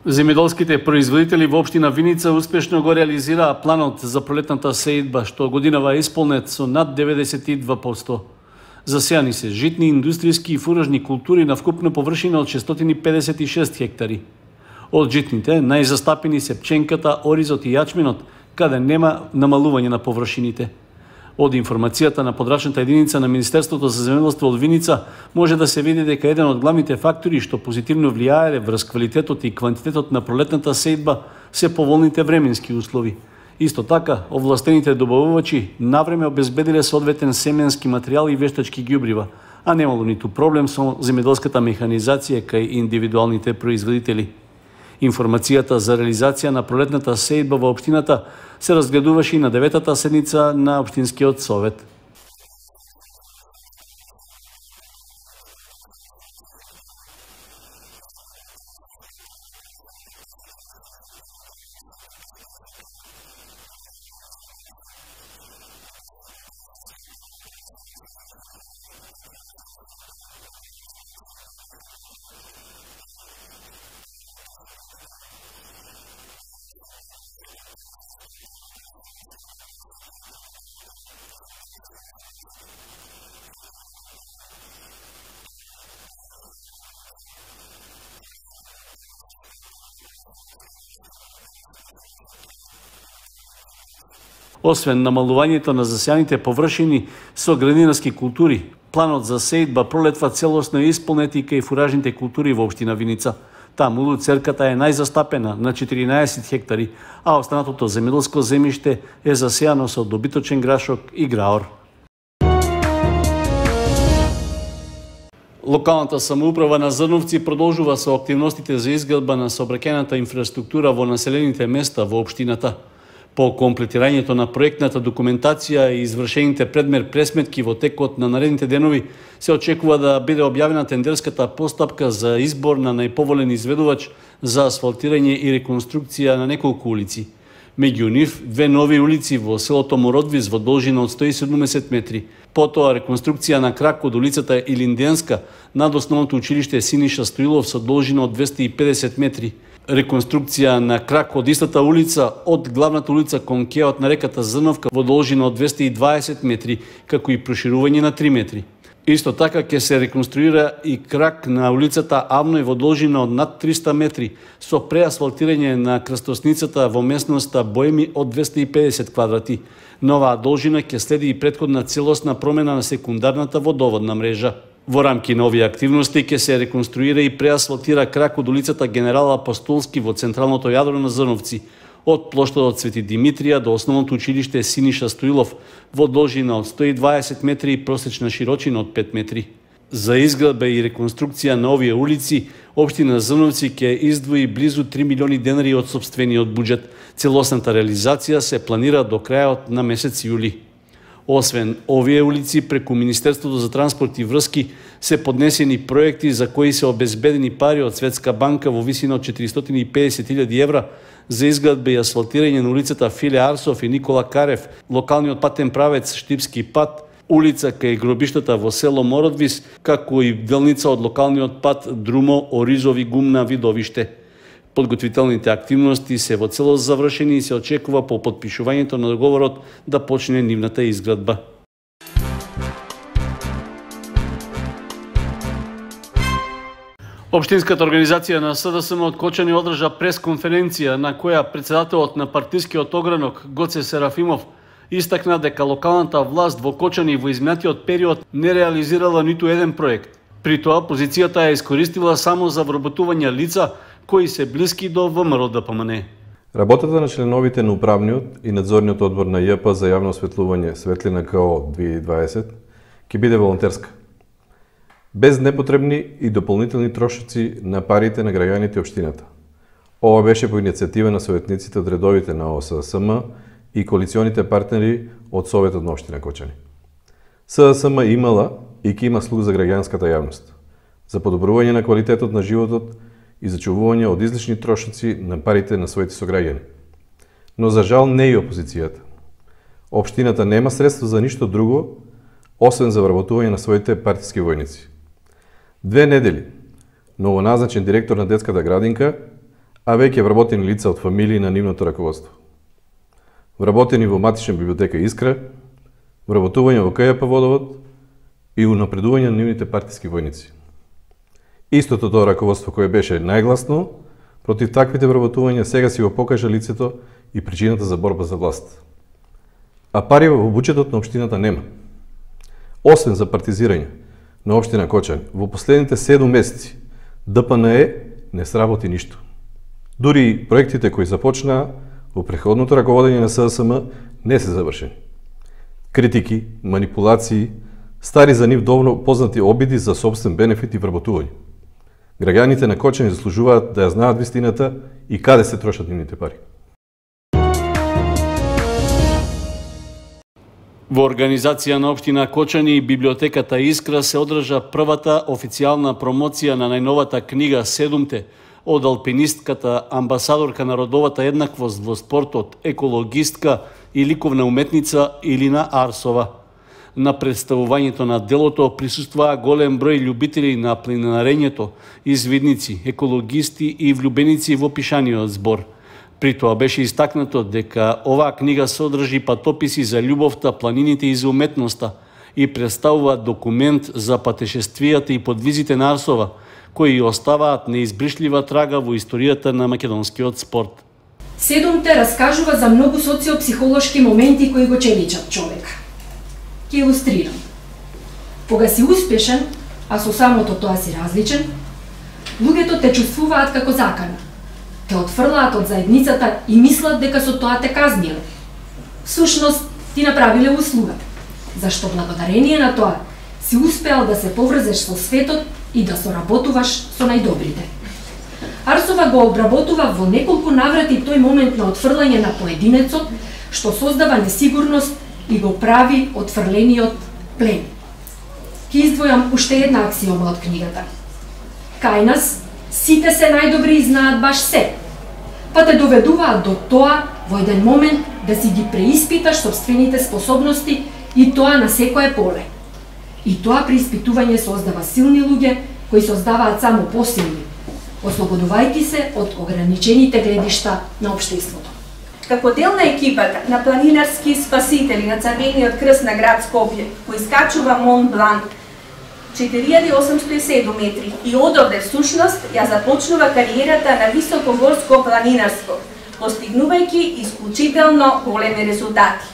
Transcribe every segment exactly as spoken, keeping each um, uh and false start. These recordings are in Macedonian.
Земјоделските производители во општина Виница успешно го реализираа планот за пролетната сеидба, што годинава е исполнет со над деветдесет и два проценти. Засејани се житни, индустријски и фуражни култури на вкупна површина од шестстотини педесет и шест хектари. Од житните, најзастапени се пченката, оризот и јачменот, каде нема намалување на површините. Од информацијата на подрачната единица на Министерството за земјоделство од Виница може да се види дека еден од главните фактори што позитивно влијаеле врз квалитетот и квантитетот на пролетната сеидба се поволните временски услови. Исто така, овластените добавувачи навреме обезбедиле соодветен семенски материјал и вештачки ѓубрива, а немало ниту проблем со земјоделската механизација кај индивидуалните производители. Информацијата за реализација на пролетната сеидба во општината се разгледуваше и на деветата седница на Општинскиот совет. Освен намалувањето на засејаните површини со градинарски култури, планот за сеидба пролетва целосно исполнет и кај фуражните култури во општина Виница. Таму луцерката е најзастапена на четиринаесет хектари, а останатото земјоделско земјиште е засејано со добиточен грашок и граор. Локалната самоуправа на Зрновци продолжува со активностите за изградба на сообраќајната инфраструктура во населените места во општината. По комплетирањето на проектната документација и извршените предмер пресметки во текот на наредните денови, се очекува да биде објавена тендерската постапка за избор на најповолен изведувач за асфалтирање и реконструкција на неколку улици. Меѓу нив, две нови улици во селото Мородвис во должина од сто и седумдесет метри, потоа реконструкција на крак од улицата Илинденска над основното училиште Синиша Стоилов со должина од двесте и педесет метри, реконструкција на крак од истата улица од главната улица кон кеот на реката Зрновка во должина од двесте и дваесет метри, како и проширување на три метри. Исто така ќе се реконструира и крак на улицата Авној во должина од над триста метри со преасфалтирање на крстосницата во местноста Боеми од двесте и педесет квадрати. Новаа должина ќе следи и претходна целосна промена на секундарната водоводна мрежа. Во рамки на овие активности ќе се реконструира и преасфалтира крак од улицата Генерал Апостолски во централното јадро на Зрновци, од плоштадот Свети Димитрија до основното училиште Синиша Стоилов во должина од сто и дваесет метри и просечна широчина од пет метри. За изградба и реконструкција на овие улици, општина Зрновци ќе издвои близу три милиони денари од сопствениот буџет. Целосната реализација се планира до крајот на месец јули. Освен овие улици, преку Министерството за транспорт и врски се поднесени проекти за кои се обезбедени пари од Светска банка во висина од четиристотини и педесет илјади евра за изградба и асфалтирање на улицата Филе Арсов и Никола Карев, локалниот патен правец Штипски пат, улица кај гробиштата во село Мородвис, како и делница од локалниот пат Друмо, Оризови, Гумна, Видовиште. Подготвителните активности се во целост завршени и се очекува по потпишувањето на договорот да почне нивната изградба. Општинската организација на СДСМ од Кочани одржа пресконференција на која председателот на партискиот огранок Гоце Серафимов истакна дека локалната власт во Кочани во изминатиот период не реализирала ниту еден проект. При тоа позицијата ја искористила само за вработување лица кои се блиски до ВМРО Д П М Н. Работата на членовите на управниот и надзорниот одбор на Ј П за јавно осветлување Светлина К О две илјади и дваесет ќе биде волонтерска, без непотребни и дополнителни трошоци на парите на граѓаните општината. Ова беше по иницијатива на советниците од редовите на О С С М и коалиционите партнери од Советот на општина Кочани. С С М имала и ќе има слух за граѓанската јавност, за подобрување на квалитетот на животот и зачувување од излишни трошоци на парите на своите сограѓани. Но за жал не и опозицијата. Општината нема средства за ништо друго, освен за вработување на своите партиски војници. Две недели новоназначен директор на детската градинка, а веќе вработени лица од фамилии на нивното раководство. Вработени во матична библиотека Искра, вработување во КЈП Водовод и унапредување на нивните партиски војници. Истото тоа раководство кое беше најгласно против таквите вработувања сега си го покажа лицето и причината за борба за власт. А пари во буџетот на општината нема. Освен за партизирање на општина Кочани, во последните седум месеци Д П Н Е не сработи ништо. Дури и проектите кои започнаа во претходното раководење на С С М не се завршени. Критики, манипулации, стари за нив доволно познати обиди за собствен бенефит и вработување. Граѓаните на Кочани заслужуваат да ја знаат вистината и каде се трошат нивните пари. Во организација на општина Кочани и библиотеката Искра се одржа првата официјална промоција на најновата книга Седумте од алпинистката, амбасадорка на родовата еднаквост во спортот, екологистка и ликовна уметница Илина Арсова. На представувањето на делото присустваа голем број љубители на планинарењето, извидници, екологисти и влюбеници во пишаниот збор. При тоа беше истакнато дека оваа книга содржи патописи за љубовта, планините и за уметноста и представува документ за патешествијата и подвизите на Арсова, кои оставаат неизбришлива трага во историјата на македонскиот спорт. Седумте раскажува за многу социопсихолошки моменти кои го челичат човека. Ке илустрирам. Кога си успешен, а со самото тоа си различен, луѓето те чувствуваат како закана. Те отфрлаат од заедницата и мислат дека со тоа те казниле. Всушност, ти направиле услуга, зашто благодарение на тоа си успеал да се поврзеш со светот и да соработуваш со најдобрите. Арсова го обработува во неколку наврати тој момент на отфрлање на поединецот, што создава несигурност и го прави отфрлениот плен. Ке издвојам уште една аксиома од книгата. Кај нас сите се најдобри и знаат баш се, па те доведуваат до тоа во еден момент да си ги преиспиташ собствените способности и тоа на секое поле. И тоа преиспитување создава силни луѓе кои создаваат само посилни, ослободувајќи се од ограничените гледишта на општеството. Како дел на екипата на планинарски спасители на Црвениот крст на град Скопје, кој искачува Мон Блан четири илјади осумстотини и седум метри и одовде всушност ја започнува кариерата на високогорско планинарство, постигнувајќи исклучително големи резултати.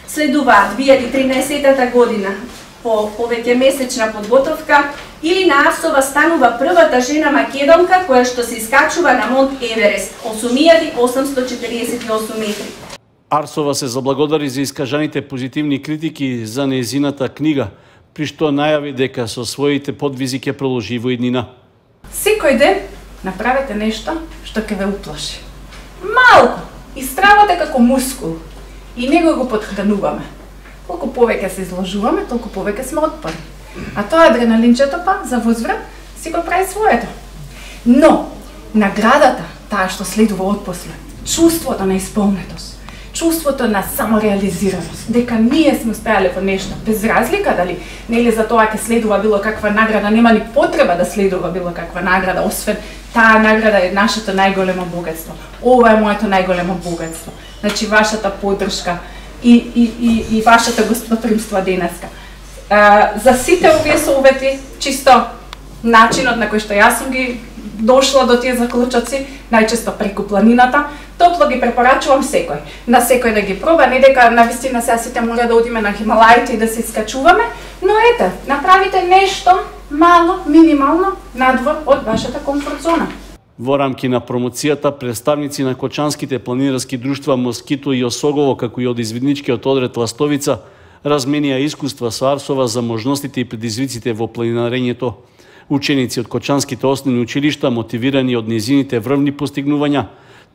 Следуваат две илјади и тринаесетта година, по повеќе месечна подготовка, Илина Арсова станува првата жена македонка која што се искачува на Монт Еверест, осум илјади осумстотини четиридесет и осум метри. Арсова се заблагодари за искажаните позитивни критики за нејзината книга, при што најави дека со своите подвизи ќе продолжи во иднина. Секој ден направете нешто што ќе ве уплаши. Малку, истравате како мускул и него го подхрануваме. Колку повеќе се изложуваме, толку повеќе сме отпорни. А тоа адреналинчето па за возврат си го прави своето. Но наградата, таа што следува отпосле, чувството на исполнетост, чувството на самореализираност, дека ние сме успеале во нешто, без разлика дали нели за тоа ќе следува било каква награда, нема ни потреба да следува било каква награда, освен таа награда е нашето најголемо богатство. Ова е моето најголемо богатство. Значи вашата поддршка и и и и вашата гостопримство денеска. Uh, за сите овие совети, чисто начинот на кој што јас сум ги дошла до тие заклучоци, најчесто преку планината, топло ги препорачувам секој. На секој да ги проба, не дека навистина сега сите мора да одиме на Хималаите и да се искачуваме, но ете, направите нешто мало, минимално, надвор од вашата комфорт зона. Во рамки на промоцијата, представници на кочанските планинарски друштва Москито и Осогово, како и од извидничкиот одред Ластовица, разменија искуства со Арсова за можностите и предизвиците во планинарењето. Ученици од кочанските основни училишта, мотивирани од нејзините врвни постигнувања,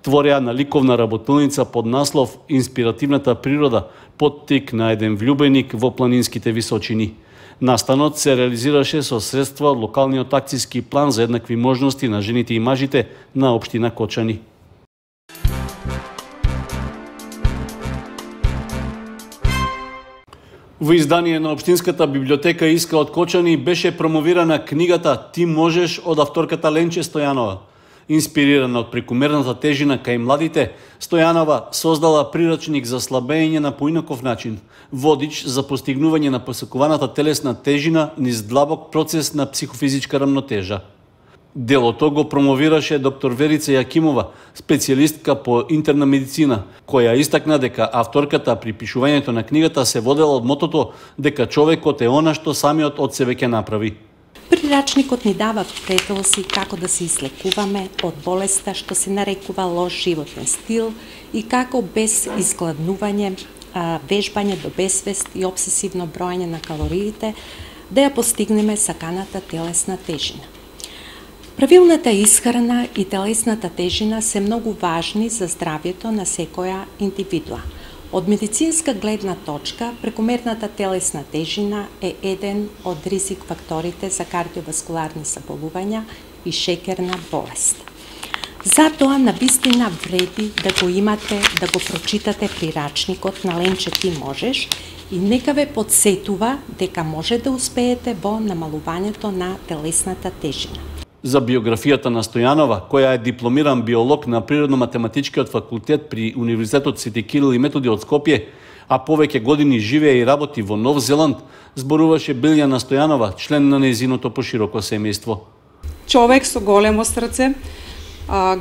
твореа на ликовна работилница под наслов «Инспиративната природа», поттик на еден влюбеник во планинските височини. Настанот се реализираше со средства од локалниот акцијски план за еднакви можности на жените и мажите на општина Кочани. Во издание на Општинската библиотека Искра од Кочани беше промовирана книгата «Ти можеш» од авторката Ленче Стојанова. Инспирирана од прекумерната тежина кај младите, Стојанова создала прирачник за слабење на поинаков начин, водич за постигнување на посекуваната телесна тежина низ длабок процес на психофизичка рамнотежа. Делото го промовираше доктор Верица Јакимова, специјалистка по интерна медицина, која истакна дека авторката при пишувањето на книгата се водела од мотото дека човекот е она што самиот од себе ќе направи. Прирачникот ни дава претилси како да се излекуваме од болеста што се нарекува лош животен стил и како без изгладнување, вежбање до безсвест и обсесивно броење на калориите да ја постигнеме саканата телесна тежина. Правилната исхрана и телесната тежина се многу важни за здравјето на секоја индивидуа. Од медицинска гледна точка, прекомерната телесна тежина е еден од ризик факторите за кардиоваскуларни заболувања и шеќерна болест. Затоа навистина вреди да го имате, да го прочитате прирачникот на Ленче Ти можеш и нека ве подсетува дека може да успеете во намалувањето на телесната тежина. За биографијата на Стојанова, која е дипломиран биолог на Природно-математичкиот факултет при Универзитетот Свети Кирил и Методи од Скопје, а повеќе години живее и работи во Нов Зеланд, зборуваше Билјана Стојанова, член на нејзиното пошироко семејство. Човек со големо срце,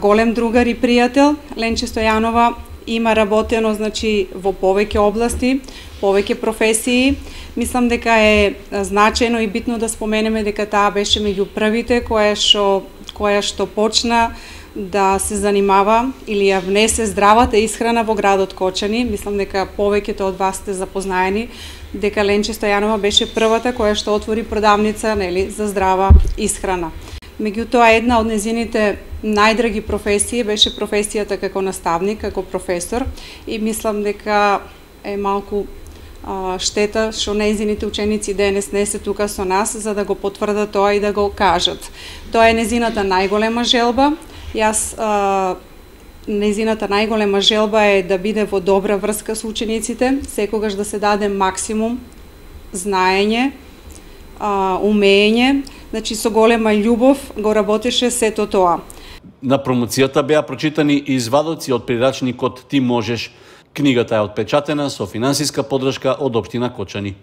голем другар и пријател, Ленче Стојанова има работено значи во повеќе области, повеќе професии. Мислам дека е значајно и битно да споменеме дека таа беше меѓу првите која што која што почна да се занимава или ја внесе здравата исхрана во градот Кочани. Мислам дека повеќето од вас сте запознаени дека Ленче Стојанова беше првата која што отвори продавница, нели, за здрава исхрана. Меѓутоа, една од незините најдраги професии беше професијата како наставник, како професор, и мислам дека е малку а, штета што незините ученици денес не се тука со нас за да го потврдат тоа и да го кажат. Тоа е незината најголема желба. Јас а, незината најголема желба е да биде во добра врска со учениците, секогаш да се даде максимум знаење, а, умење, значи со голема љубов го работеше сето тоа. На промоцијата беа прочитани и извадоци од прирачникот Ти можеш. Книгата е отпечатена со финансиска поддршка од општина Кочани.